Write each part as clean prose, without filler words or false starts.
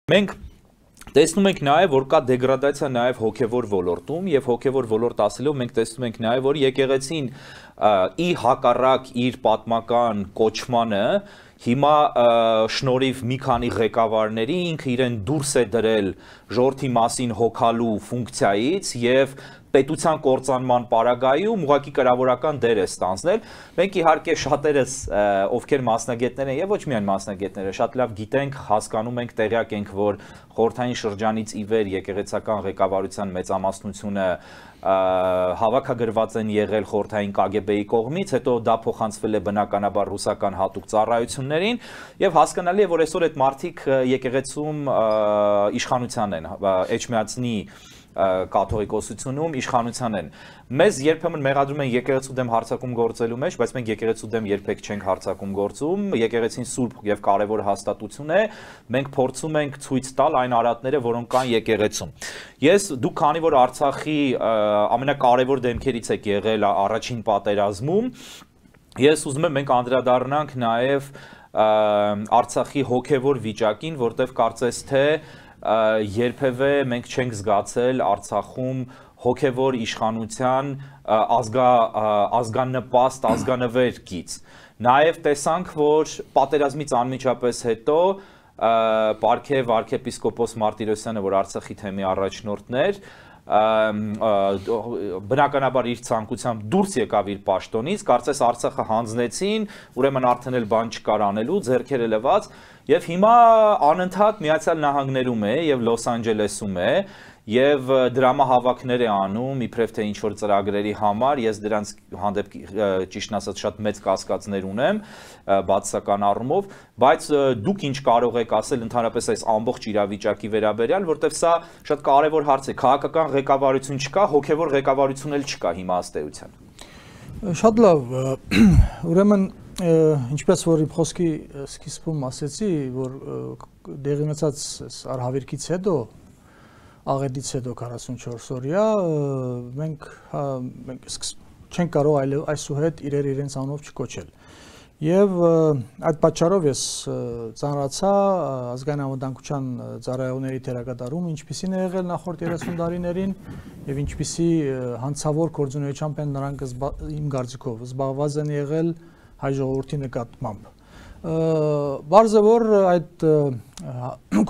Մենք տեսնում ենք նաև, որ կա դեգրադացիա նաև հոգևոր ոլորտում եւ հոգևոր ոլորտ ասելով մենք տեսնում ենք նաև, որ եկեղեցին ի հակառակ իր պատմական կոչմանը հիմա շնորհիվ մի քանի ղեկավարների ինքը իրեն դուրս է դրել ժողովրդի մասին հոգալու ֆունկցիայից եւ պետության կործանման պարագայում ուղղակի կրավորական դեր է ստանձնել։ Մենք իհարկե շատերս ովքեր մասնագետներ են եւ ոչ միայն մասնագետները, շատ լավ գիտենք, հասկանում ենք, տեղյակ ենք, որ խորհրդային շրջանից ի վեր եկեղեցական ղեկավարության մեծամասնությունը հավաքագրված են եղել խորհրդային KGB-ի կողմից, հետո դա փոխանցվել է բնականաբար ռուսական հատուկ ծառայություններին եւ հասկանալի է, որ այսօր այդ մարդիկ եկեղեցում իշխանության են, Էջմիածնի կաթողիկոսությունում իշխանության են։ Մեզ երբեմն մեղադրում են եկեղեցու դեմ հարձակում գործելու մեջ, բայց մենք եկեղեցու դեմ երբեք չենք հարձակում գործում։ Եկեղեցին սուրբ եւ կարեւոր հաստատություն է։ Մենք փորձում ենք ցույց տալ այն արատները, որոնք կան եկեղեցում։ Դուք քանի որ Արցախի ամենակարևոր դեմքերից եք եղել առաջին պատերազմում, ես ուզում եմ մենք անդրադառնանք նաեւ Արցախի հոգեվոր վիճակին, որտեղ կարծես թե երբևէ մենք չենք զգացել Արցախում հոգևոր իշխանության ազգանպաստ, ազգանվեր գիծ։ Նաև տեսանք, որ պատերազմից անմիջապես հետո պարգև arczepiskopos Martirosyan-ը, որ Արցախի թեմի առաջնորդն էր, բնականաբար իր ցանկությամբ դուրս եկավ իր պաշտոնից, կարծես Արցախը հանձնեցին, ուրեմն արդեն էլ բան չկար անելու, ձեռքերը լվաց, եւ հիմա անընդհատ Միացյալ Նահանգներում է եւ Լոս Անջելեսում է եւ դրամահավաքներ է անում իբրև թե ինչ որ ծրագրերի համար, ես դրանց հանդեպ ճիշտն ասած շատ մեծ կասկածներ ունեմ բացասական առումով, բայց դուք ինչ կարող եք ասել ընդհանրապես այս ամբողջ իրավիճակի վերաբերյալ, որտեղ սա շատ կարևոր հարց է, քաղաքական ղեկավարություն չկա, հոգևոր ղեկավարություն էլ չկա հիմա ըստ էության։ Շատ լավ, ուրեմն ինչպես որ իմ խոսքի սկիզբում ասեցի, որ դեղի ունեցած արհավիրքից հետո աղետից հետո 44 օրյա մենք չենք կարող այլ այսուհետ իրենց անունով չկոչել։ Եվ այդ պատճառով ես ծանրացա ազգային անվտանգության ծառայողների թերակատարում, ինչպիսին է եղել նախորդ 30 տարիներին եւ ինչպիսի հանցավոր գործունեությամբ են նրանք իմ կարծիքով զբաղված են եղել հայ ժողովրդի նկատմամբ։ Բարձ է որ այդ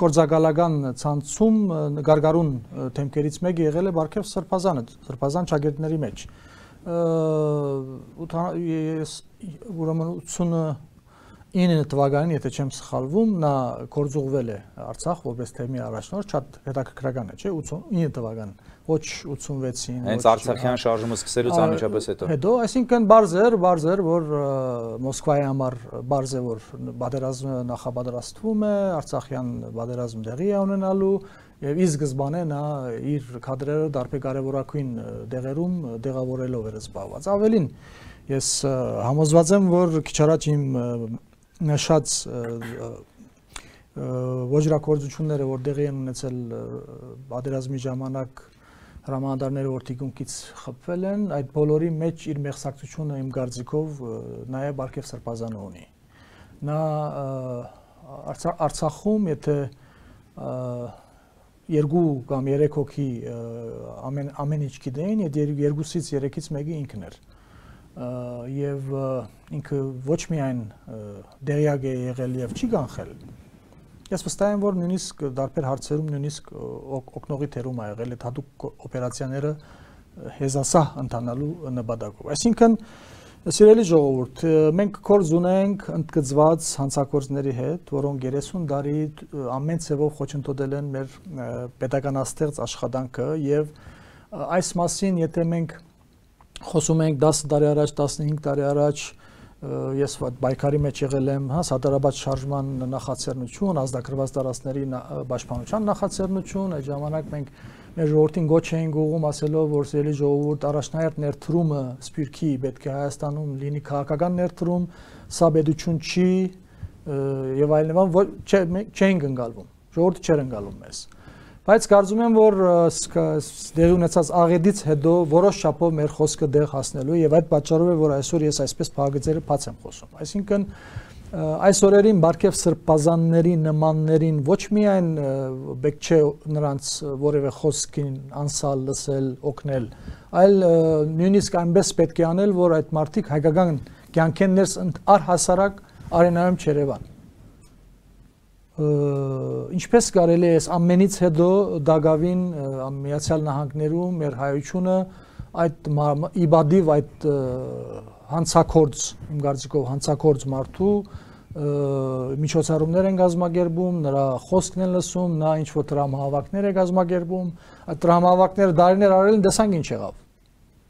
գործակալական ցանցում գարգարուն թեմքերից մեկը եղել է Բարքև Սրբազանը, Սրբազան ճակերտների մեջ։ Ուրեմն 89 թվականին, եթե չեմ սխալվում, նա գործուղվել է Արցախ որպես թեմի առաջնորդ, շատ հետաքրքրական է, չէ՞, 89 թվականին, ոչ 86-ին, հենց Արցախյան շարժումը սկսելուց անմիջապես հետո։ Հետո, այսինքն բարձ էր, որ Մոսկվայի համար բարձ է, որ պատերազմը նախապատրաստվում է, Արցախյան պատերազմ տեղի է ունենալու, եւ ի սկզբանե նա իր կադրերը դարբեր կարևորագույն դեղերում դեղավորելով էր զբաղված։ Ավելին, ես համոզված եմ, որ քիչ առաջ իմ նշած ոչրակորձությունները, որ տեղի են ունեցել պատերազմի ժամանակ հրամանատարները, որ թիկունքից խփվել են, այդ բոլորի մեջ իր մեղսակցությունը իմ կարծիքով նաեւ Բարքև Սրբազանը ունի։ Նա Արցախում, եթե 2 կամ 3 հոգի ամեն ինչ գիտեին, այդ 2-ից 3-ից մեկը ինքն էր։ Եվ ինքը ոչ միայն դերյակ է եղել եւ չի կանխել։ Ես վստահ եմ, որ նույնիսկ դարբեր հարցերում նույնիսկ օգնողի թերում ա եղել այդ հատուկ օպերացիաները հեզասահ ընթանալու նպատակով։ Այսինքն, սիրելի ժողովուրդ, մենք կորձ ունենք ընդգծված հանցագործների հետ, որոնք 30 տարի ամեն ձևով խոչընդոտել են մեր պետականաստեղծ աշխատանքը եւ այս մասին, եթե մենք խոսում ենք 10 տարի առաջ, 15 տարի առաջ, ես բայկարի մեջ եղել եմ, Սատարաբադ շարժման նախաձեռնություն, ազդագրված տարածքների պաշտպանության նախաձեռնություն, այդ ժամանակ մենք մեր ժողովրդին գոչ էինք ուղղում ասելով, որ սիրելի ժողովուրդ առաջնահերթ ներդրումը Սփյուռքի պետք է Հայաստանում լինի քաղաքական ներդրում, սա պետություն չի եւ այլն, չենք ընկալվում, ժողովուրդը չէր ընկալում մեզ։ Բայց կարծում եմ, որ դեղի ունեցած աղետից հետո որոշ չափով մեր խոսքը դեղ հասնելու եւ այդ պատճառով է, որ այսօր ես այսպես փակագծերը բաց եմ խոսում։ Այսինքն այս օրերին Բարքև սրբազանների նմաններին ոչ միայն բեք չէ նրանց որևէ խոսքին անսալ լսել, օգնել, այլ նույնիսկ այնպես պետք է անել, որ այդ մարդիկ հայկական կյանքեն ներս առհասարակ արենայում չերևան։ Ինչպես կարելի է ամենից հետո Դագավին Միացյալ Նահանգներում մեր հայությունը այդ իբադիվ այդ հանցակորձ, իմ կարծիքով հանցակորձ մարդու միջոցառումներ են կազմակերպում, նրա խոսքն են լսում, նա ինչ որ տրամահավաքներ է կազմակերպում, այդ տրամահավաքները դարիներ արել են, տեսանք ինչ եղավ։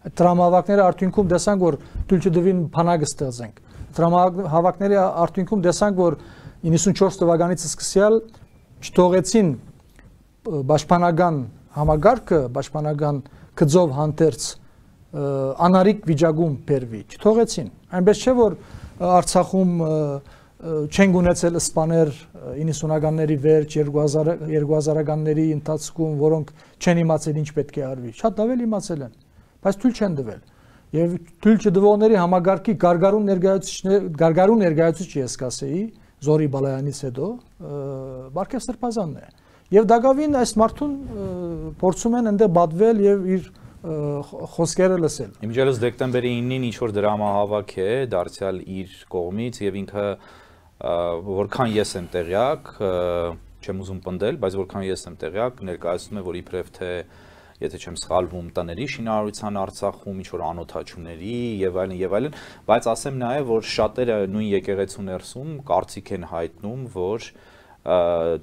Այդ տրամահավաքները արդյունքում տեսանք, որ թույլ չտվին բանակ ստեղծենք։ Տրամահավաքների արդյունքում տեսանք, որ 94 թվականից սկսյալ չթողեցին պաշտպանական համագարկը, պաշտպանական գծով հանդերձ անարիք վիճակում բերվի, չթողեցին։ Այնպես չէ, որ Արցախում չեն ունեցել սպաներ 90-ականների վերջ, 2000-ականների ընթացքում, որոնք չեն իմացել ինչ պետք է արվի։ Շատ լավ էլ իմացել են, բայց թույլ չեն տվել։ Եվ թույլ չտվողների համագարկի գարգարու ներկայացուցիչ ես կասեի, Զորի Բալայանից հետո Բարքև Սրբազանն է։ Եվ Դագավին այս մարդուն փորձում են այնտեղ բադվել եւ իր խոսքերը լսել։ Իմիջիայլոց դեկտեմբերի 9-ին ինչ որ դրամահավաք է դարձյալ իր կողմից եւ ինքը որքան ես եմ տեղյակ, չեմ ուզում պնդել, բայց որքան ես եմ տեղյակ, ներկայացնում է, որ իբրև թե եթե չեմ սխալվում, տների շինարարության Արցախում, ինչ որ անօթաչուների եւ այլն, բայց ասեմ նաեւ, որ շատերը նույն եկեղեցու ներսում կարծիք են հայտնում, որ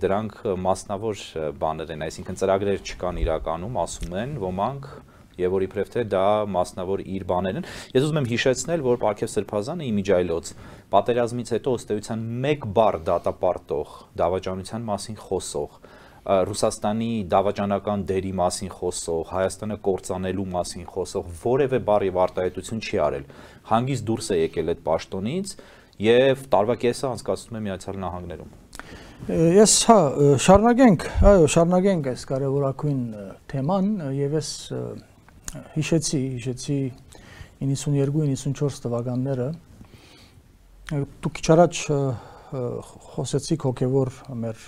դրանք մասնավոր բաներ են, այսինքն ծրագրեր չկան իրականում, ասում են ոմանք, եւ որ իբրև թե դա մասնավոր իր բաներն են։ Ես ուզում եմ հիշեցնել, որ Բարքև Սրբազանը իմիջայլոց պատերազմից հետո ըստ էության մեկ բառ դատապարտող, դավաճանության մասին խոսող, Ռուսաստանի դավաճանական դերի մասին խոսող, Հայաստանը կործանելու մասին խոսող որևէ բառ եւ արտահայտություն չի արել։ Հանգիստ դուրս է եկել այդ պաշտոնից եւ տարվա կեսը անցկացնում է Միացյալ Նահանգներում։ Ես հա շարունակենք, այո, շարունակենք այս կարևորագույն թեման եւ ես հիշեցի 92-94 թվականները դուք քիչ առաջ խոսեցիք հոգեվոր մեր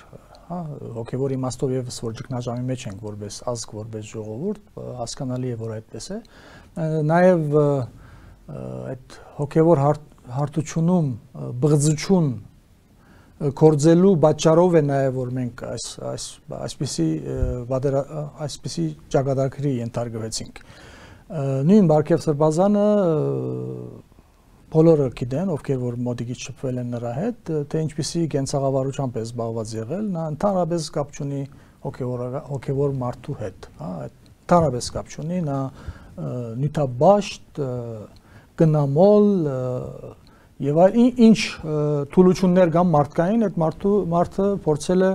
հոգեվոր իմաստով եւս որ ճգնաժամի մեջ ենք որպես ազգ, որպես ժողովուրդ, հասկանալի է որ այդպես է։ Նաեւ այդ հոգեվոր հարթությունում բղձություն կորձելու պատճառով է նաեւ որ մենք այսպիսի ճակատագրի ենթարկվեցինք։ Նույն Բարքև Սրբազանը բոլորը գիտեն, ովքեր որ մոտիկից շփվել են նրա հետ, թե ինչպիսի կենցաղավարությամբ է զբաղված եղել, նա ընդհանրապես կապ չունի հոգևոր մարդու հետ, հա, ընդհանրապես կապ չունի, նա նյութաբաշտ, գնամոլ եւ ինչ թուլություններ կան մարդկային, այդ մարդը փորձել է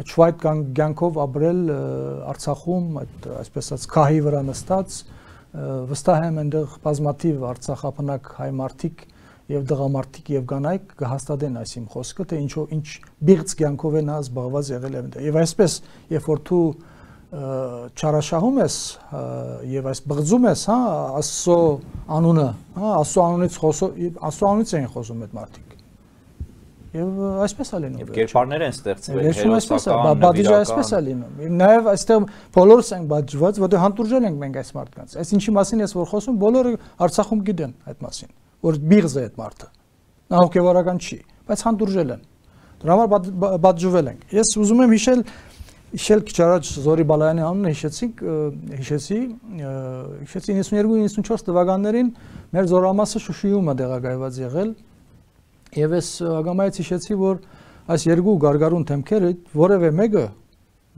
չվայտ կյանքով ապրել Արցախում, այդ այսպես ասած քահի վրա նստած, վստահ եմ այնտեղ բազմաթիվ արցախապնակ հայ մարդիկ եւ դղամարդիկ եւ կանայք կհաստատեն այս իմ խոսքը, թե ինչ բիղծ կյանքով է նա զբաղված եղել այնտեղ։ Եվ այսպես, երբ որ դու չարաշահում ես եւ այս բղձում ես, հա, Աստծո անունը, հա, Աստծո անունից են խոսում այդ մարդիկ։ Եվ այսպես է լինում։ Եվ կերպարներ են ստեղծվել, հերոսական, բադիժը այսպես է լինում։ Նաև այստեղ բոլորս ենք բաժված, որտեղ հանդուրժել ենք մենք այս մարդկանց։ Այս ինչի մասին ես որ խոսում, բոլորը Արցախում գիտեն այդ մասին, որ բիղզ է այդ մարդը։ Նա հոգևորական չի, բայց հանդուրժել են։ Դրա համար բաժվել ենք։ Ես ուզում եմ հիշել քիչ առաջ Զորի Բալայանի անունը հիշեցի 92-94 թվականներին մեր զորամասը Շուշիում է տեղակայված եղել։ Եվ ես ագամայից հիշեցի, որ այս երկու գարգարուն թեմքերը որևէ մեկը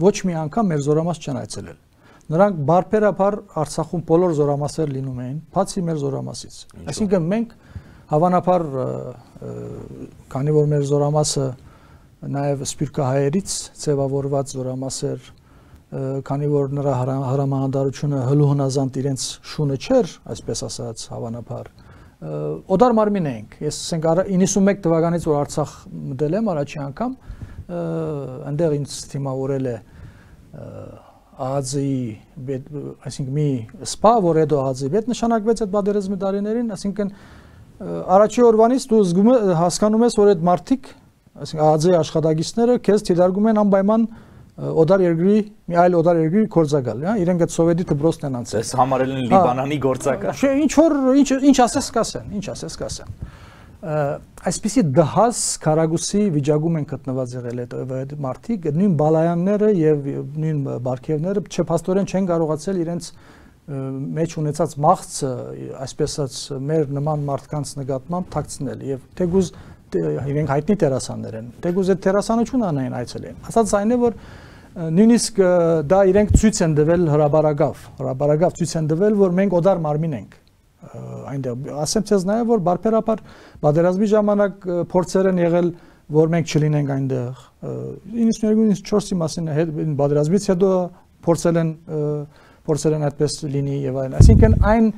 ոչ մի անգամ մեր զորամաս չեն այցելել։ Նրանք բարբերաբար Արցախում բոլոր զորամասեր լինում էին, բացի մեր զորամասից։ Այսինքն մենք հավանաբար քանի որ մեր զորամասը նաև սպիրկահայերից ձևավորված զորամասեր, քանի որ նրա հրամանատարությունը հլուհնազանդ իրենց շունը չէր, այսպես ասած, հավանաբար օդար մարմին էինք։ Ես ասենք 91 թվականից որ Արցախ մտել եմ առաջի անգամ, այնտեղ ինձ թիմավորել է ԱԱԶ-ի, այսինքն մի սպա, որ հետո ԱԱԶ-ի հետ նշանակվեց այդ պատերազմի տարիներին, այսինքն Առաջի օրվանից դու զգում ես հասկանում ես, որ այդ մարդիկ, այսինքն ԱԱԾ-ի աշխատակիցները քեզ թիրախում են անպայման օդար երկրի մի այլ օդար երկրի գործակալ, հա, իրենք այդ սովետի դպրոցն են անցել։ Ես համարել են Լիբանանի գործակալ։ Չէ, ինչ ասես կասեն։ Այսպիսի դհաս քարագուսի վիճակում են գտնված եղել այդ մարդիկ, նույն բալայանները եւ նույն բարգեւները չփաստորեն չեն կարողացել իրենց մեջ ունեցած մաղձը, այսպես ասած, մեր նման մարդկանց նկատմամբ թաքցնել եւ թեկուզ իրենք հայտնի տերասաններ են։ Թեկուզ այդ տերասանություն անային այցելեն։ Ասած այն է, որ նույնիսկ դա իրենք ցույց են տվել հրաբարագավ ցույց են տվել, որ մենք օդար մարմին ենք։ Այնտեղ ասեմ ցեզ նաև որ բարբերաբար պատերազմի ժամանակ փորձեր են եղել որ մենք չլինենք այնտեղ 92-94-ի մասին պատերազմից հետո փորձել են այդպես լինի եւ այլն այսինքն այն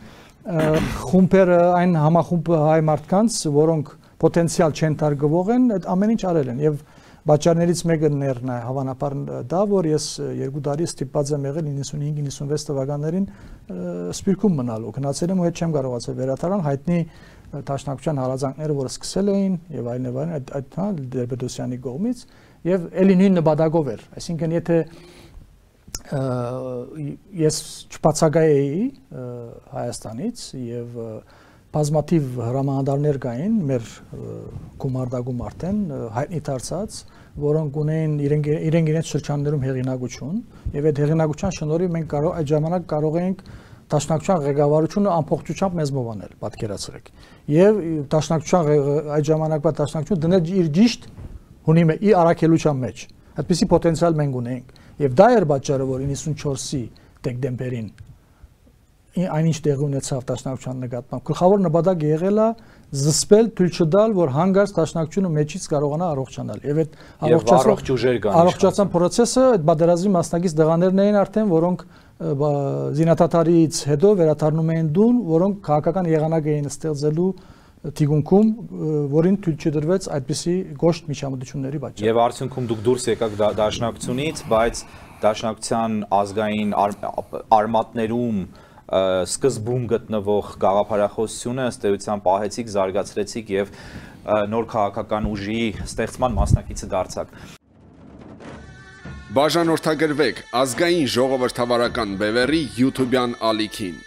խումբերը այն համախումբը հայ մարդկանց որոնք պոտենցիալ չեն տարգվող են այդ ամեն ինչ արել են եւ Բաճարներից մեկը ներն է հավանաբար դա որ ես 2 տարի ստիպված եմ եղել 95-96 թվականներին Սպիրկում մնալու գնացել եմ ու հետ չեմ կարողացել վերադառնալ հայտնի Տաշնակցության հարազանքները որ սկսել էին եւ այլն այդ հա Դերբեդոսյանի կողմից եւ ելի նույն նպատակով էր այսինքն եթե ես չբացակայեի Հայաստանից եւ բազմաթիվ հրամանատարներ կային մեր գումարտակում արդեն հայտնի դարձած որոնք ունեին իրենց շրջաններում հեղինակություն եւ այդ հեղինակության շնորհիվ մենք այդ ժամանակ կարող էինք Տաշնակցության ղեկավարությունը ամբողջությամբ մեզ մովանել պատկերացրեք եւ Տաշնակցության այդ ժամանակվա Տաշնակցությունը դնել իր ճիշտ հունի առաքելության մեջ այդպիսի պոտենցիալ մենք ունեինք եւ դա էր պատճառը որ 94-ի դեկտեմբերին այնինչ տեղի ունեցավ Տաշնակցության նկատմամբ գլխավոր նպատակը եղել է զսպել թույլ չտալ որ հանգարց Տաշնակցությունը մեջից կարողանա առողջանալ եւ այդ առողջացան process-ը այդ բادرազի մասնակից դղաներն էին արդեն որոնք զինաթաթարից հետո վերադառնում էին դուն որոնք քաղաքական եղանակ էին ստեղծելու թիգունքում որին թույլ չդրվեց այդպիսի գոշտ միջամտությունների պատճառով եւ արդյունքում դուք դուրս եկաք Դաշնակցությունից բայց Դաշնակցության ազգային արմատներում սկզբում գտնվող գաղափարախոսությունը ըստ էության պահեցիք, զարգացրեցիք եւ նոր քաղաքական ուժի ստեղծման մասնակիցը դարձաք։ Բաժանորդագրվեք ազգային ժողովրդավարական բևեռի YouTube-յան ալիքին։